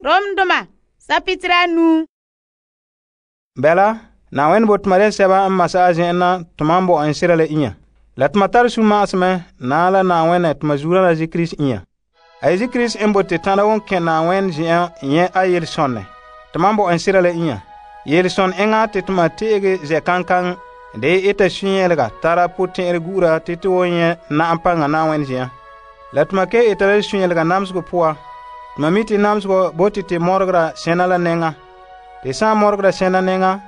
Romdoma sapitira 9. Bɛla, Na'ayenɛ bo toma de sɛba n masa a zen'en na toma n bo en sera la inya. La toma tare sunma'asomɛ na la Na'ayenɛ toma zuola la Kirisi inya. A ye Kirisi n bote tãda won kɛn Na'ayenɛ zen'en nyɛ a yelesonɛ. Toma n bo en sera la inya. Yelesonɛ enŋa te toma te'ege zɛ kankaŋ de eta sunyɛlega tara potɛn'ɛrɛ gura te to won nyɛ na'am paŋa Na'ayenɛ zen'en. La toma ke eta la sunyɛlega namsegɔ poa. Toma mi te namsegɔ bote te mɔregera sɛna la nɛŋa. Te sãn mɔregera sɛna nɛŋa,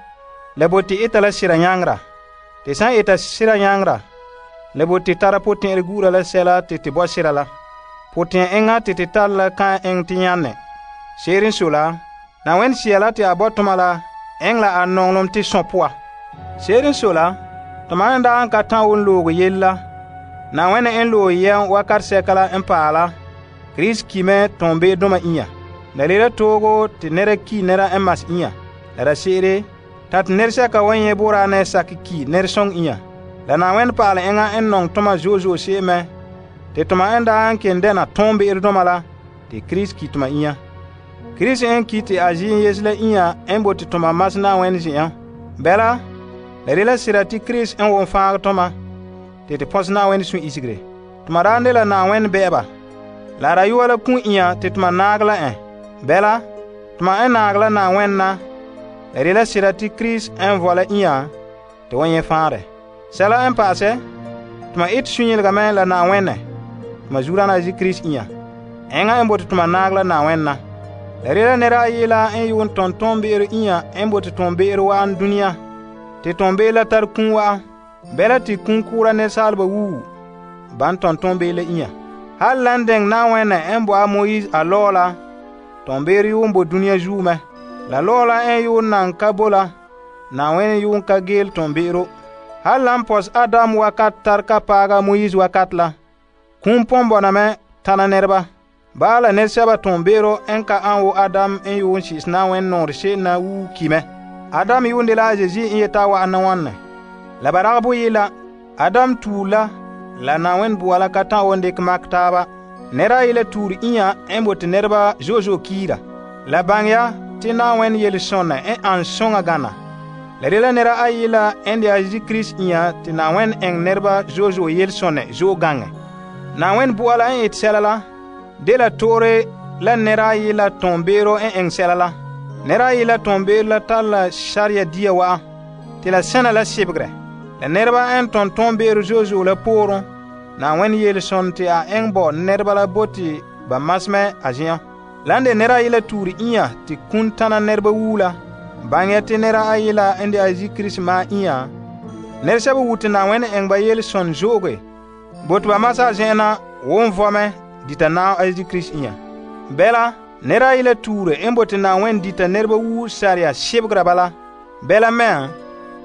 la bote eta la sira nyaŋera. Te sãn eta sira nyaŋera, la bote tara potɛn'ɛrɛ gura la sɛla te te bɔ sira la. Potɛn enŋa te te tara la kan eŋɛ te nyannɛ. Se'ere n sɔe la, Na'ayenɛ Sea la te a bɔ toma la eŋɛ la a nɔŋlem te sɔn poa. Se'ere n sɔe la, toma n daa n ka tã won looge yele la, Na'ayenɛ n loe yɛm wakat sɛka la n paɛ la, Kirisi ki mɛ tɔnbe'edoma inya. La le la toogo te nɛra ki nɛra n mas inya. La da se'ere, ta te nɛresɛka wan nyɛ boraanɛ sakɛ ki nɛresɔŋɔ inya. La Na'ayenɛ pa'alɛ enŋa n nɔŋɛ toma zo'e zo'e se'em mɛ, te toma n daa n ken dɛna tɔnbe'eredoma la, te Kirisi ki toma inya. Kirisi n ki te a ziim yese la inya n bote toma mas Na'ayenɛ zen'en. Bɛla, la de la sira te Kirisi n won faagɛ toma, te te pɔsɛ Na'ayenɛ sũ'isegere. Toma daa de la Na'ayenɛ bɛ'ɛba. La rayuwa la kun inya te toma naagɛ la en. Bɛla, toma n naagɛ la Na'ayenɛ na, la de la sira te Kirisi n vɔ la inya te wan nyɛ faanrɛ. Sɛla n pa'asɛ, toma ete sunyɛlega mɛ la Na'ayenɛ, toma zuodaana Kirisi inya. Enŋa n bote toma naagɛ la Na'ayenɛ na. La de la nɛra ayi la n yuun tɔn tɔnbe'ero inya n bote tɔnbe'ero wa'an dunia, te tɔnbe'ero la tare kum wa'an. Bɛla te kum kʋʋra nɛresaaleba wuu ban tɔn tɔnbe'ero la inya. Hal lan dɛŋ Na'ayenɛ n bo a Moise a lɔɔ la, tɔnbe'ero yuun bo dunia zuo mɛ. La lɔɔ la n yuun nan ka bo la, Na'ayenɛ yuun ka geele tɔnbe'ero. Hal lan pɔs Adam wakat tar ka paaga Moise wakat la, kum pɔn bɔna mɛ tana nɛreba. Bala nɛresɛba tɔnbe'ero n ka an wo Adam n yuun shi'is Na'ayenɛ nɔŋerɛ se'em na wuu ki mɛ. Adam yuun de la a Zezi n yete a wa'ana wɔnne. La ba ragɛ boye la, Adam tuur la Na'ayenɛ bua la ka tã won dikɛ makɛ taaba. Nɛra ayi la tuur inya n bote nɛreba zo'e zo'e kiira. La baŋɛ ya te Na'ayenɛ yelesonɛ n an soŋa gana. La de la nɛra ayi la n de a Kirisi inya te Na'ayenɛ eŋɛ nɛreba zo'e zo'e yelesonɛ zo'e gaŋɛ. Na'ayenɛ bua la n ete sɛla la, de la toore la nɛra ayi la tɔnbe'ero n eŋɛ sɛla la. Nɛra ayi la tɔnbe'ero la tare la sariya dia wa'an, te la sɛna la sebegere. La nɛreba n tɔn tɔnbe'ero zo'e zo'e la pooren, Na'ayenɛ yelesonɛ te a eŋɛ bo nɛreba la bote ba masmɛ a zen'en. Lan de nɛra ayi la tuur inya te kun tana nɛreba wuu la, baŋɛ ya te nɛra ayi la n de a Kirisi maa inya, nɛresɛba wuu te Na'ayenɛ eŋɛ ba yelesonɛ zo'oge, bote ba masa a zen'en na won vɔ mɛ dita naam a Kirisi inya. Bɛla, nɛra ayi la tuure n bote Na'ayenɛ dita nɛreba wuu sariya sebegera bala. Bɛla mɛ,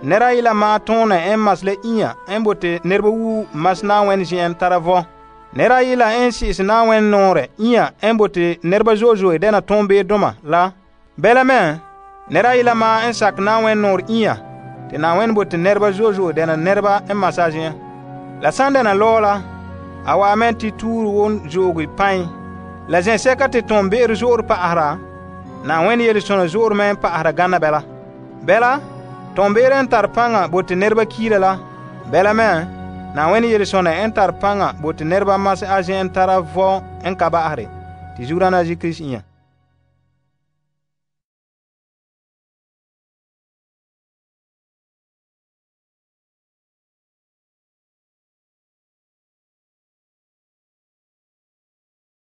nɛra ayi la maa tõonɛ n mas la inya n bote nɛreba wuu mas Na'ayenɛ zen'en tara vɔ. Nɛra ayi la n si'is Na'ayenɛ nɔɔrɛ inya n bote nɛreba zo'e zo'e dɛna tɔnbe'edoma la. Bɛla mɛ, nɛra ayi la maa n sakɛ Na'ayenɛ nɔɔrɛ inya te Na'ayenɛ bote nɛreba zo'e zo'e dɛna nɛreba n mas a zen'en. La san dɛna lɔɔ la, a waa mɛ te tuur won zo'oge pãi. La zɛsɛka te tɔnbe'ero zo'ore pa'asera, Na'ayenɛ yelesonɛ zo'ore mɛ n pa'asera gana bɛla. Bɛla, tɔnbe'ero n tare paŋa bote nɛreba kiira la. Bɛla mɛ, Na'ayenɛ yelesonɛ n tare paŋa bote nɛreba mas a zen'en tara vɔ n ka ba'asere. Te zuodaana Kirisi inya.